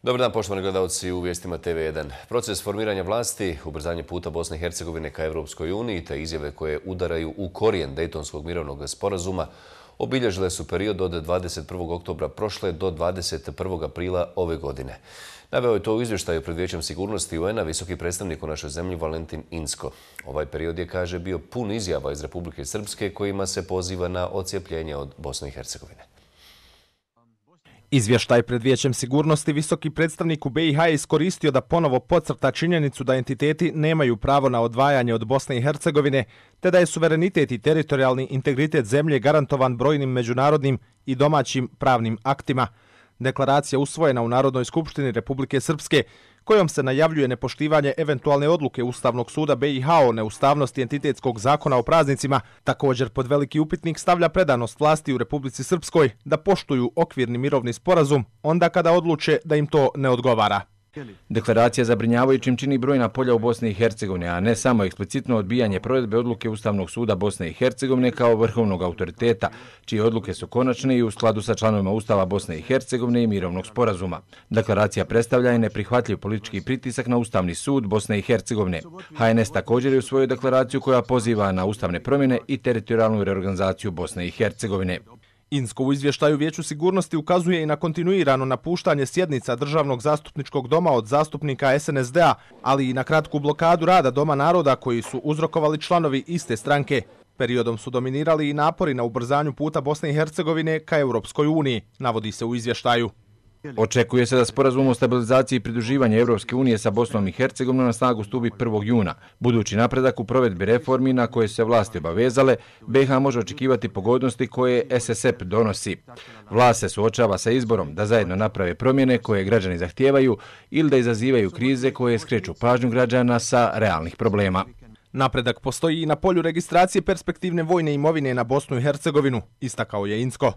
Dobar dan, poštovani gledalci u vijestima TV1. Proces formiranja vlasti, ubrzanje puta Bosne i Hercegovine ka Evropskoj uniji te izjave koje udaraju u korijen Dejtonskog mirovnog sporazuma obilježile su period od 21. oktobra prošle do 21. aprila ove godine. Naveo je to u izvještaju pred Vijećem sigurnosti UN-a visoki predstavnik u našoj zemlji Valentin Incko. Ovaj period je, kaže, bio pun izjava iz Republike Srpske kojima se poziva na odcijepljenje od Bosne i Hercegovine. Izvještaj pred Vijećem sigurnosti visoki predstavnik u BiH je iskoristio da ponovo podcrta činjenicu da entiteti nemaju pravo na odvajanje od Bosne i Hercegovine, te da je suverenitet i teritorijalni integritet zemlje garantovan brojnim međunarodnim i domaćim pravnim aktima. Deklaracija usvojena u Narodnoj skupštini Republike Srpske, kojom se najavljuje nepoštivanje eventualne odluke Ustavnog suda BiH o neustavnosti entitetskog zakona o praznicima, također pod veliki upitnik stavlja predanost vlasti u Republici Srpskoj da poštuju okvirni mirovni sporazum onda kada odluče da im to ne odgovara. Deklaracija zabrinjavajućim čini brojna polja u Bosni i Hercegovini, a ne samo eksplicitno odbijanje provedbe odluke Ustavnog suda Bosne i Hercegovine kao vrhovnog autoriteta, čije odluke su konačne i u skladu sa članovima Ustava Bosne i Hercegovine i mirovnog sporazuma. Deklaracija predstavlja i neprihvatljiv politički pritisak na Ustavni sud Bosne i Hercegovine. HNS također je usvojio deklaraciju koja poziva na ustavne promjene i teritorijalnu reorganizaciju Bosne i Hercegovine. Incko u izvještaju Vijeću sigurnosti ukazuje i na kontinuirano napuštanje sjednica Državnog zastupničkog doma od zastupnika SNSD-a, ali i na kratku blokadu rada Doma naroda koji su uzrokovali članovi iste stranke. Periodom su dominirali i napori na ubrzanju puta Bosne i Hercegovine ka Europskoj uniji, navodi se u izvještaju. Očekuje se da sporazum o stabilizaciji i pridruživanju Evropske unije sa Bosnom i Hercegovinom na snagu stupi 1. juna. Budući napredak u provedbi reformi na koje se vlasti obavezale, BiH može očekivati pogodnosti koje SSP donosi. Vlast se suočava sa izborom da zajedno naprave promjene koje građani zahtijevaju ili da izazivaju krize koje skreću pažnju građana sa realnih problema. Napredak postoji i na polju registracije perspektivne vojne imovine na Bosnu i Hercegovinu, istakao je Incko.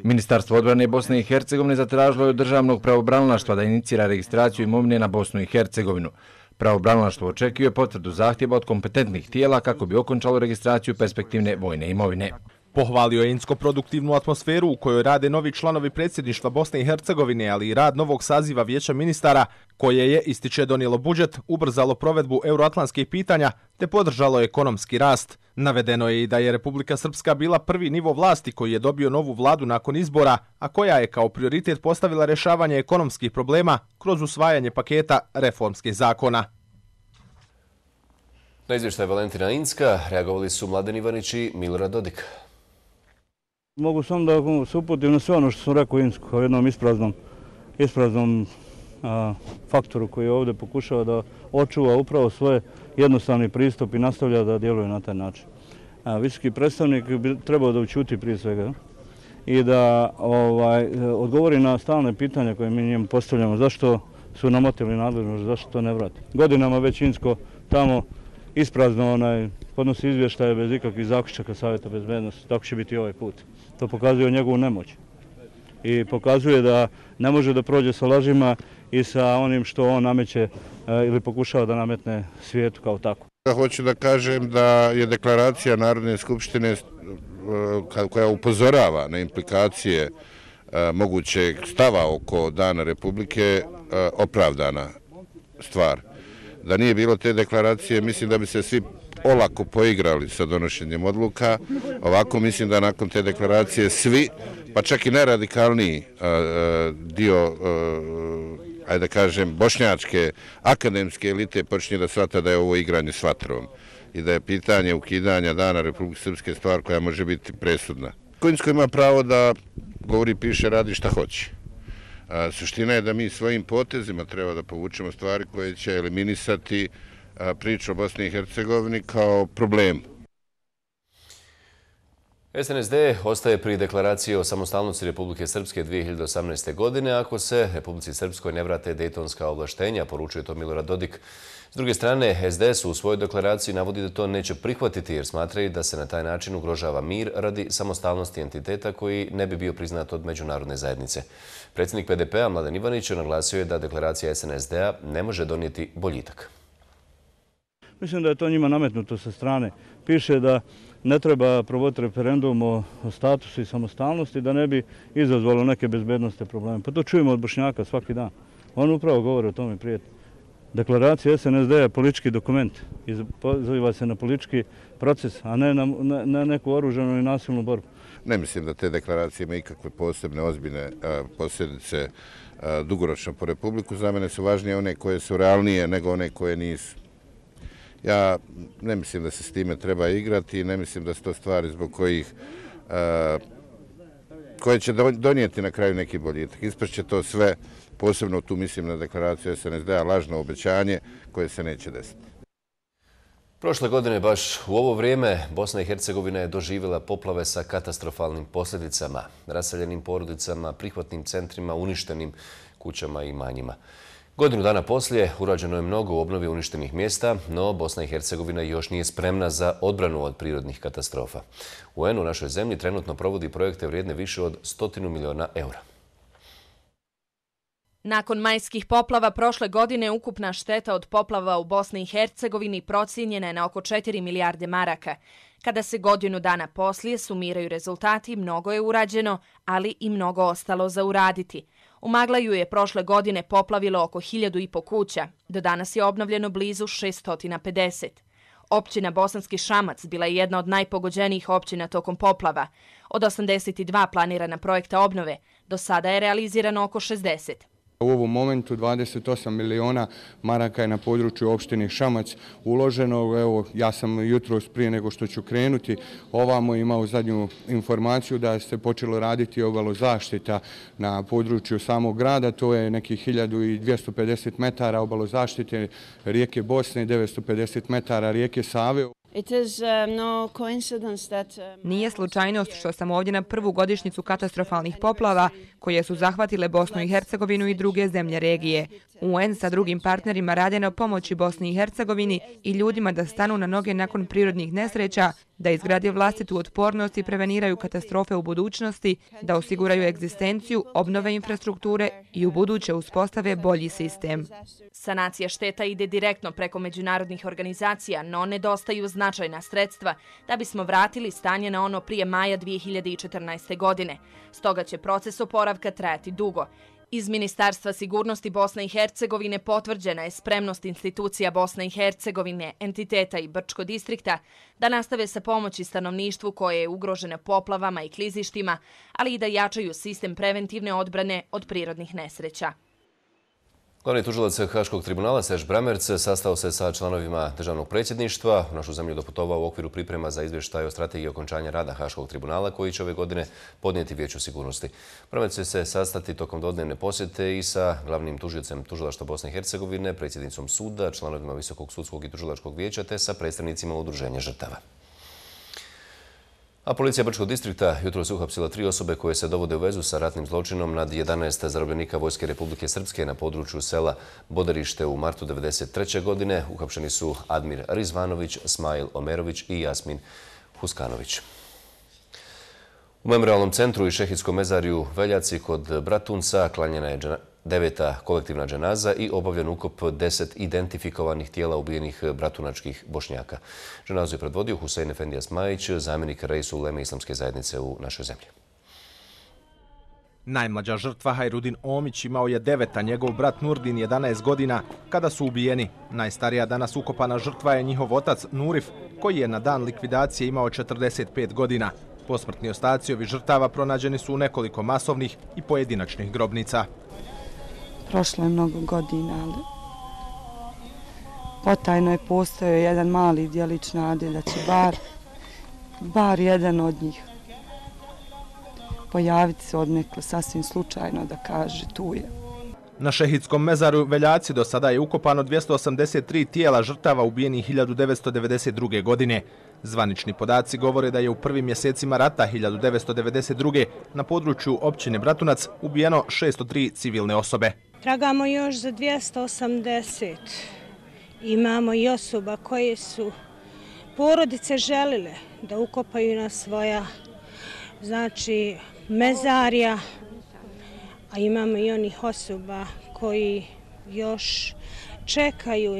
Ministarstvo odbrane Bosne i Hercegovine zatražilo je od državnog pravobranilaštva da inicira registraciju imovine na Bosnu i Hercegovinu. Pravobranilaštvo očekuje potvrdu zahtjeva od kompetentnih tijela kako bi okončalo registraciju perspektivne vojne imovine. Pohvalio je Incko produktivnu atmosferu u kojoj rade novi članovi predsjedništva Bosne i Hercegovine, ali i rad novog saziva Vijeća ministara, koje je, ističe, donijelo budžet, ubrzalo provedbu euroatlantskih pitanja te podržalo ekonomski rast. Navedeno je i da je Republika Srpska bila prvi nivo vlasti koji je dobio novu vladu nakon izbora, a koja je kao prioritet postavila rješavanje ekonomskih problema kroz usvajanje paketa reformskih zakona. Na izvještaj Valentina Incka reagovali su Mladen Ivanić i Milorad Dodik. Mogu samo da se uputim na sve ono što sam rekao Incku, kao jednom ispraznom faktoru koji ovdje pokušava da očuva upravo svoj jednostavni pristup i nastavlja da djeluje na taj način. Visoki predstavnik bi trebao da ućuti prije svega i da odgovori na stalne pitanja koje mi njemu postavljamo, zašto su namotili nadležnost, zašto to ne vrati. Godinama već Incko tamo isprazno podnosi izvještaje bez ikakvih zaključaka Savjeta bezbednosti, tako će biti i ovaj put. To pokazuje njegovu nemoć i pokazuje da ne može da prođe sa lažima i sa onim što on nameće ili pokušava da nametne svijetu kao tako. Hoću da kažem da je deklaracija Narodne skupštine koja upozorava na implikacije mogućeg stava oko Dana Republike opravdana stvar. Da nije bilo te deklaracije, mislim da bi se svi olako poigrali sa donošenjem odluka. Ovako mislim da nakon te deklaracije svi, pa čak i najradikalniji dio, ajde da kažem, bošnjačke akademske elite počinje da shvata da je ovo igranje s vatrom i da je pitanje ukidanja Dana Republike Srpske stvar koja može biti presudna. Incko ima pravo da govori, piše, radi šta hoće. Suština je da mi svojim potezima treba da povučemo stvari koje će eliminisati priču o Bosni i Hercegovini kao problem. SNSD ostaje pri deklaraciji o samostalnosti Republike Srpske 2018. godine ako se Republici Srpskoj ne vrate dejtonska ovlaštenja, poručuje to Milorad Dodik. S druge strane, SDS u svojoj deklaraciji navodi da to neće prihvatiti jer smatraju da se na taj način ugrožava mir radi samostalnosti entiteta koji ne bi bio priznat od međunarodne zajednice. Predsjednik PDP-a Mladen Ivanić naglasio je da deklaracija SNSD-a ne može donijeti boljitak. Mislim da je to njima nametnuto sa strane. Piše da ne treba provoditi referendum o statusu i samostalnosti da ne bi izazvalo neke bezbednostne probleme. Pa to čujemo od Bošnjaka svaki dan. On upravo govori o tome, prijatelj. Deklaracija SNSD je politički dokument i poziva se na politički proces, a ne na neku oružanu i nasilnu borbu. Ne mislim da te deklaracije imaju ikakve posebne, ozbiljne posljedice dugoročno po Republiku. Za mene su važnije one koje su realnije nego one koje nisu. Ja ne mislim da se s time treba igrati i ne mislim da su to stvari zbog koje će donijeti na kraju neki boljitak. Ispašće to sve, posebno tu mislim na deklaraciju SNSD-a, lažno obećanje koje se neće desiti. Prošle godine, baš u ovo vrijeme, Bosna i Hercegovina je doživjela poplave sa katastrofalnim posljedicama, raseljenim porodicama, prihvatnim centrima, uništenim kućama i imanjima. Godinu dana poslije urađeno je mnogo u obnovi uništenih mjesta, no Bosna i Hercegovina još nije spremna za odbranu od prirodnih katastrofa. UN u našoj zemlji trenutno provodi projekte vrijedne više od 100 milijuna eura. Nakon majskih poplava prošle godine ukupna šteta od poplava u Bosni i Hercegovini procijenjena je na oko 4 milijarde maraka. Kada se godinu dana poslije sumiraju rezultati, mnogo je urađeno, ali i mnogo ostalo za uraditi. U Maglaju je prošle godine poplavilo oko 1500 kuća, do danas je obnovljeno blizu 650. Općina Bosanski Šamac bila je jedna od najpogođenijih općina tokom poplava. Od 82 planirana projekta obnove, do sada je realizirano oko 60. U ovom momentu 28 miliona maraka je na području opštine Šamac uloženo. Evo, ja sam jutros prije nego što ću krenuti ovamo imao zadnju informaciju da se počelo raditi obalozaštita na području samog grada. To je nekih 1250 metara obalozaštite rijeke Bosne, 950 metara rijeke Save. Nije slučajnost što sam ovdje na prvu godišnjicu katastrofalnih poplava koje su zahvatile Bosnu i Hercegovinu i druge zemlje regije. UN sa drugim partnerima rade na pomoći Bosni i Hercegovini i ljudima da stanu na noge nakon prirodnih nesreća, da izgrade vlastitu otpornost i preveniraju katastrofe u budućnosti, da osiguraju egzistenciju, obnove infrastrukture i u buduće uspostave bolji sistem. Sanacija šteta ide direktno preko međunarodnih organizacija, no nedostaju značajna sredstva da bismo vratili stanje na ono prije maja 2014. godine. Stoga će proces oporavka trajati dugo. Iz Ministarstva sigurnosti Bosne i Hercegovine potvrđena je spremnost institucija Bosne i Hercegovine, entiteta i Brčko distrikta da nastave sa pomoći stanovništvu koje je ugroženo poplavama i klizištima, ali i da jačaju sistem preventivne odbrane od prirodnih nesreća. Glavni tužilac Haškog tribunala Serž Bramerc sastao se sa članovima državnog predsjedništva. U našu zemlju doputovao u okviru priprema za izvještaj o strategiji okončanja rada Haškog tribunala koji će ove godine podnijeti Vijeću sigurnosti. Bramerc će se sastati tokom dvodnevne posjete i sa glavnim tužiocem Tužilaštva Bosne i Hercegovine, predsjednicom suda, članovima Visokog sudskog i tužilačkog vijeća te sa predstavnicima udruženja žrtava. A policija Brčkog distrikta jutros uhapsila 3 osobe koje se dovode u vezu sa ratnim zločinom nad 11 zarobljenika Vojske Republike Srpske na području sela Bodarište u martu 1993. godine. Uhapšeni su Admir Rizvanović, Smajl Omerović i Jasmin Huskanović. U Memorialnom centru i Šehidskom mezarju Veljaci kod Bratunca klanjena je 9. kolektivna dženaza i obavljen ukop 10 identifikovanih tijela ubijenih bratunačkih Bošnjaka. Dženazu je predvodio Husein Efendija Smajić, zamjenik reisu uleme islamske zajednice u našoj zemlji. Najmlađa žrtva Hajrudin Omić imao je 9, a njegov brat Nurdin 11 godina kada su ubijeni. Najstarija danas ukopana žrtva je njihov otac Nurif, koji je na dan likvidacije imao 45 godina. Posmrtni ostaci ovih žrtava pronađeni su u nekoliko masovnih i pojedinačnih grobnica. Prošlo je mnogo godina, ali potajno je postojao jedan mali djelić nade da će bar jedan od njih pojaviti se odnekle sasvim slučajno da kaže tu je. Na Šehidskom mezaru Veljaci do sada je ukopano 283 tijela žrtava ubijenih 1992. godine. Zvanični podaci govore da je u prvim mjesecima rata 1992. na području općine Bratunac ubijeno 603 civilne osobe. Tragamo još za 280. Imamo i osoba koje su porodice želile da ukopaju na svoja mezarja, a imamo i onih osoba koji još čekaju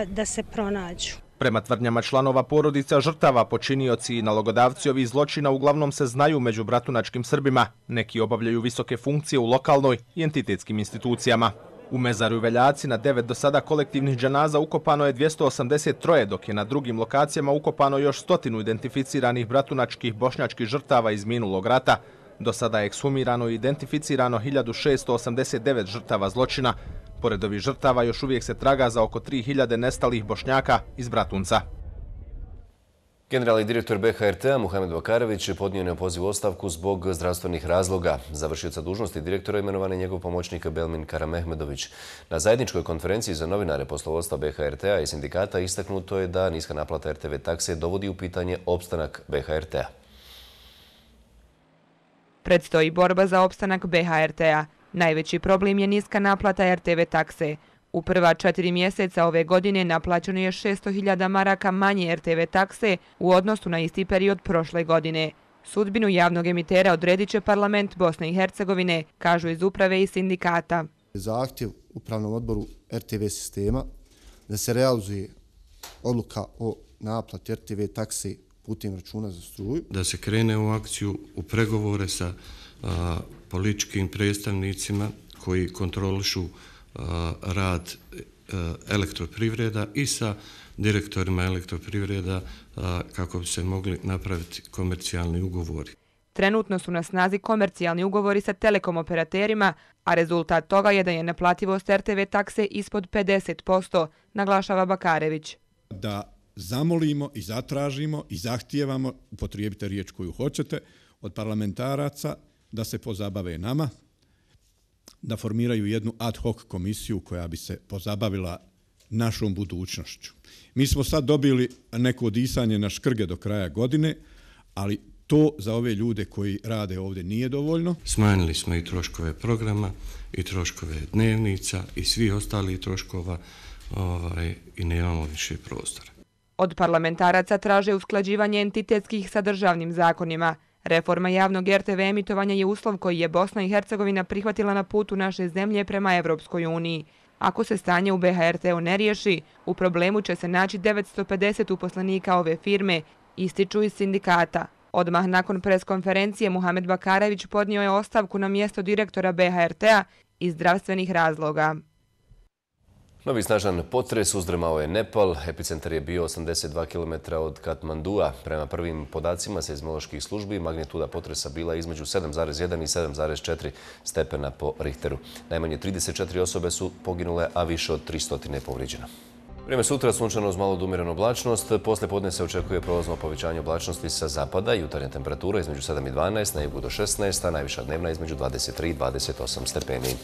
da se pronađu. Prema tvrdnjama članova porodica žrtava, počinioci i nalogodavci ovih zločina uglavnom se znaju među bratunačkim Srbima. Neki obavljaju visoke funkcije u lokalnoj i entitetskim institucijama. U mezaru Veljaci na 9 do sada kolektivnih dženaza ukopano je 283, dok je na drugim lokacijama ukopano još 100 identificiranih bratunačkih bošnjačkih žrtava iz minulog rata. Do sada je ekshumirano i identificirano 1689 žrtava zločina. Pored ovih žrtava još uvijek se traga za oko 3000 nestalih Bošnjaka iz Bratunca. Generalni direktor BHRT-a Muhamed Bakarević podnio je neopozivu ostavku zbog zdravstvenih razloga. Za vršioca dužnosti direktora imenovan je njegov pomoćnik Belmin Karamehmedović. Na zajedničkoj konferenciji za novinare poslovodstva BHRT-a i sindikata istaknuto je da niska naplata RTV takse dovodi u pitanje opstanak BHRT-a. Predstoji borba za opstanak BHRT-a. Najveći problem je niska naplata RTV takse. U prva 4 mjeseca ove godine naplaćeno je 600.000 maraka manje RTV takse u odnosu na isti period prošle godine. Sudbinu javnog emitera odredit će parlament Bosne i Hercegovine, kažu iz uprave i sindikata. Zahtjev upravnom odboru RTV sistema da se realizuje odluka o naplati RTV takse putem računa za struju. Da se krene u akciju, u pregovore sa političkim predstavnicima koji kontrolišu rad elektroprivreda i sa direktorima elektroprivreda kako bi se mogli napraviti komercijalni ugovori. Trenutno su na snazi komercijalni ugovori sa telekom operaterima, a rezultat toga je da je naplativost RTV takse ispod 50%, naglašava Bakarević. Da zamolimo i zatražimo i zahtijevamo, upotrijebite riječ koju hoćete, od parlamentaraca da se pozabave nama, da formiraju jednu ad hoc komisiju koja bi se pozabavila našom budućnošću. Mi smo sad dobili neko disanje na škrge do kraja godine, ali to za ove ljude koji rade ovdje nije dovoljno. Smanjili smo i troškove programa, i troškove dnevnica, i svih ostalih troškova i nemamo više prostora. Od parlamentaraca traže usklađivanje entitetskih sa državnim zakonima. Reforma javnog RTV emitovanja je uslov koji je Bosna i Hercegovina prihvatila na putu naše zemlje prema Evropskoj uniji. Ako se stanje u BHRT-u ne riješi, u problemu će se naći 950 uposlenika ove firme, ističu iz sindikata. Odmah nakon preskonferencije Muhamed Bakarević podnio je ostavku na mjesto direktora BHRT-a iz zdravstvenih razloga. Novi snažan potres uzdrmao je Nepal. Epicentar je bio 82 km od Katmandua. Prema prvim podacima seizmoloških službi magnituda potresa bila između 7,1 i 7,4 stepena po Richteru. Najmanje 34 osobe su poginule, a više od 300 je povrijeđeno. Vrijeme sutra sunčano uz malo umirenu oblačnost. Poslije podne se očekuje prolazno povećanje oblačnosti sa zapada. Jutarnja temperatura između 7 i 12, na jugu do 16, a najviša dnevna između 23 i 28 stepeni.